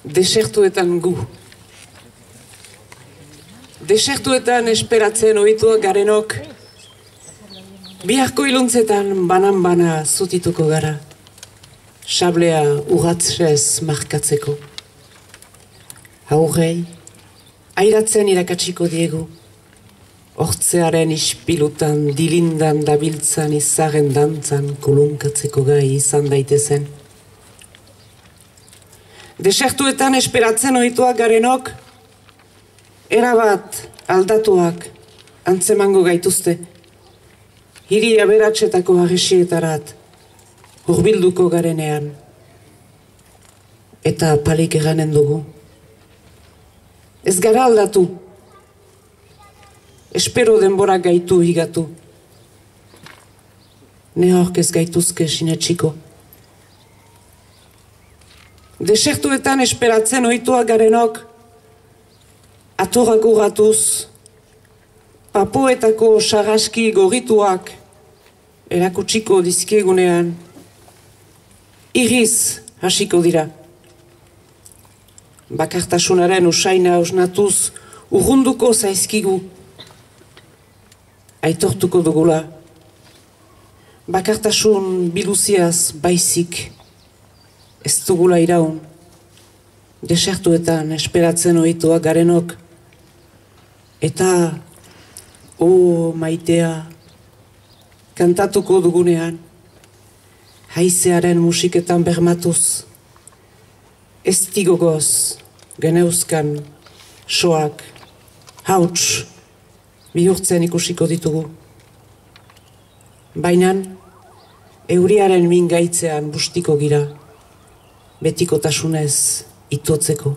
Desertuetan gu. Desertuetan esperatzen ohituak garenok, biharko iluntzetan banan-bana zutituko gara, sablea urratzez markatzeko. Haurrei, airatzen irakatsiko diegu, hortzearen ispilutan dilindan dabiltzan izaren dantzan kolunkatzeko gai izan daitezen. Desertuetan esperatzen ohituak garenok, erabat aldatuak antzemango gaituzte, hiri aberatsetako harresietarat hurbilduko garenean, eta palik eranen dugu. Ez gara aldatu, espero denbora gaitu higatu, nehork ez gaituzke sinetxiko. Desertuetan esperatzen ohituak garenok, atorrak urratuz, papoetako sarraski gorrituak erakutsiko dizkiegunean, irriz hasiko dira. Bakartasunaren usaina osnatuz urrunduko zaizkigu, aitortuko dugula. Bakartasun biluziaz baizik ez dugula iraun, desertuetan esperatzen ohituak garenok, eta maitea kantatuko dugunean, haizearen musiketan bermatuz, ez tigogoz geneuzkan soak, hauts, bihurtzen ikusiko ditugu. Bainan, euriaren mingaitzean bustiko gira, betikotasunez itotzeko.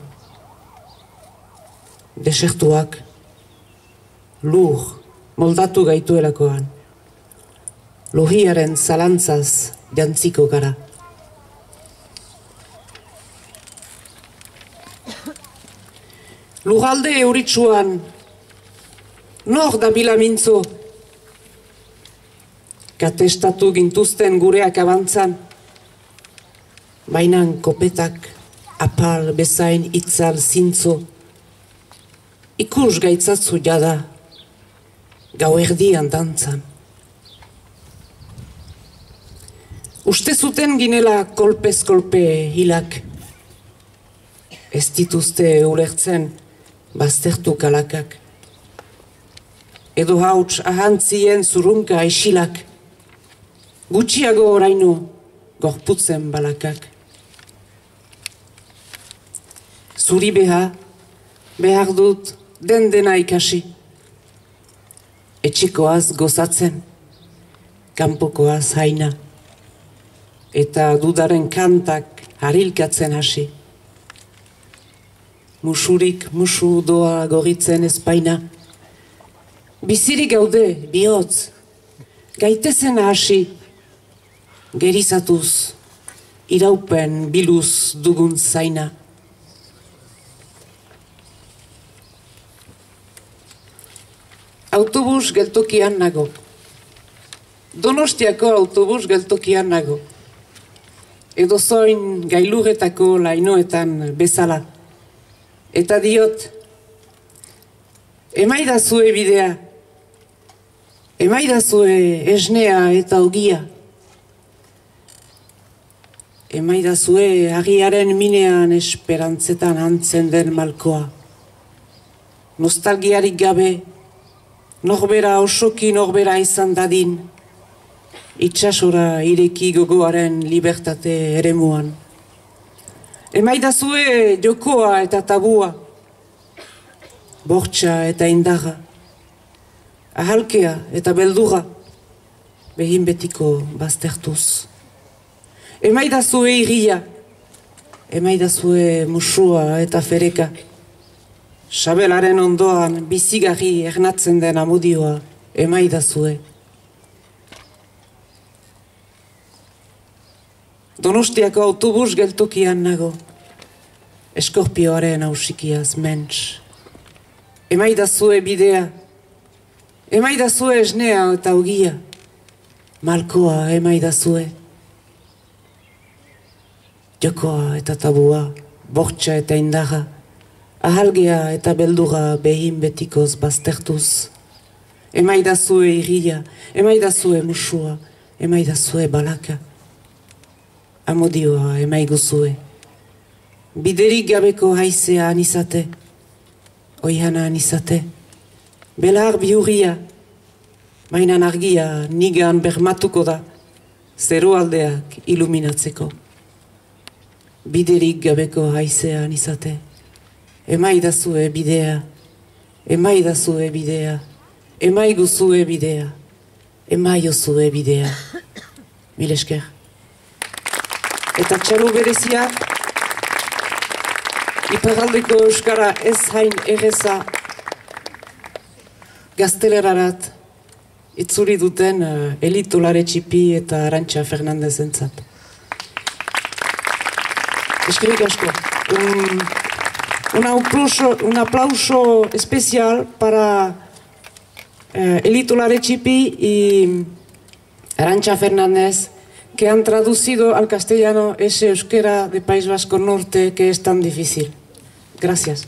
Desertuak, lur, moldatu gaituelakoan, lohiaren zalantzaz jantziko gara. Lurralde euritsuan, nor dabila mintzo, katestatu gintuzten gureak abantzan, bainan kopetak, apal bezain itzal zintzo, ikus gaitzatzu jada, gau erdian dantzan. Uste zuten ginela kolpez kolpe hilak, ez dituzte ulertzen baztertu kalakak, edo hauts ahantzien zurunka isilak, gutxiago oraino gorputzen balakak. Zuri behar dut dena ikasi, etxekoaz gozatzen, kanpokoaz haina, eta dudaren kantak harilkatzen hasi. Musurik musu doa gorritzen ezpaina, bizirik gaude bihotz, gaitezen hasi, gerizatuz, iraupen biluz dugun zaina. Autobus geltokian nago. Donostiako autobus geltokian nago. Edo zoin gailurretako lainoetan bezala. Eta diot, emaidazue bidea, emaidazue esnea eta ogia. Emaidazue agiaren minean esperantzetan antzen den malkoa. Nostalgiarik gabe, norbera osoki norbera izan dadin, itsasora ireki gogoaren libertate eremuan. Emaidazue jokoa eta tabua, bortxa eta indarra, ahalkea eta beldurra, behin betiko baztertuz. Emaidazue irria, emaidazue musua eta fereka, sabelaren ondoan bizigarri ernatzen den amodioa, emaidazue. Donostiako autobus geltokian nago, eskorpioaren ausikiaz ments. Emaidazue bidea, emaidazue esnea eta ogia, malkoa emaidazue. Jokoa eta tabua bortxa eta indarra, ahalgea eta beldura behin betikoz baztertuz. Emaidazue irria, emaidazue musua, emaidazue balaka. Amodioa emaiguzue. Biderik gabeko haizea anizate, oihana anizate. Belar biurria, mainan argia nigan bermatuko da, zerualdeak iluminatzeko. Biderik gabeko haizea anizate. Emaidazue bidea, emaidazue bidea, emaiguzue bidea, emaiozue bidea. Mil esker. Eta txalo berezia, iparraldeko euskara ez hain erreza gaztelerarat itzuri duten Elito Laretxipi eta Arantxa Fernandez entzat. Eskerrik asko. Un aplauso especial para Elito Laretxipi y Arantxa Fernández, que han traducido al castellano ese euskera de País Vasco Norte que es tan difícil. Gracias.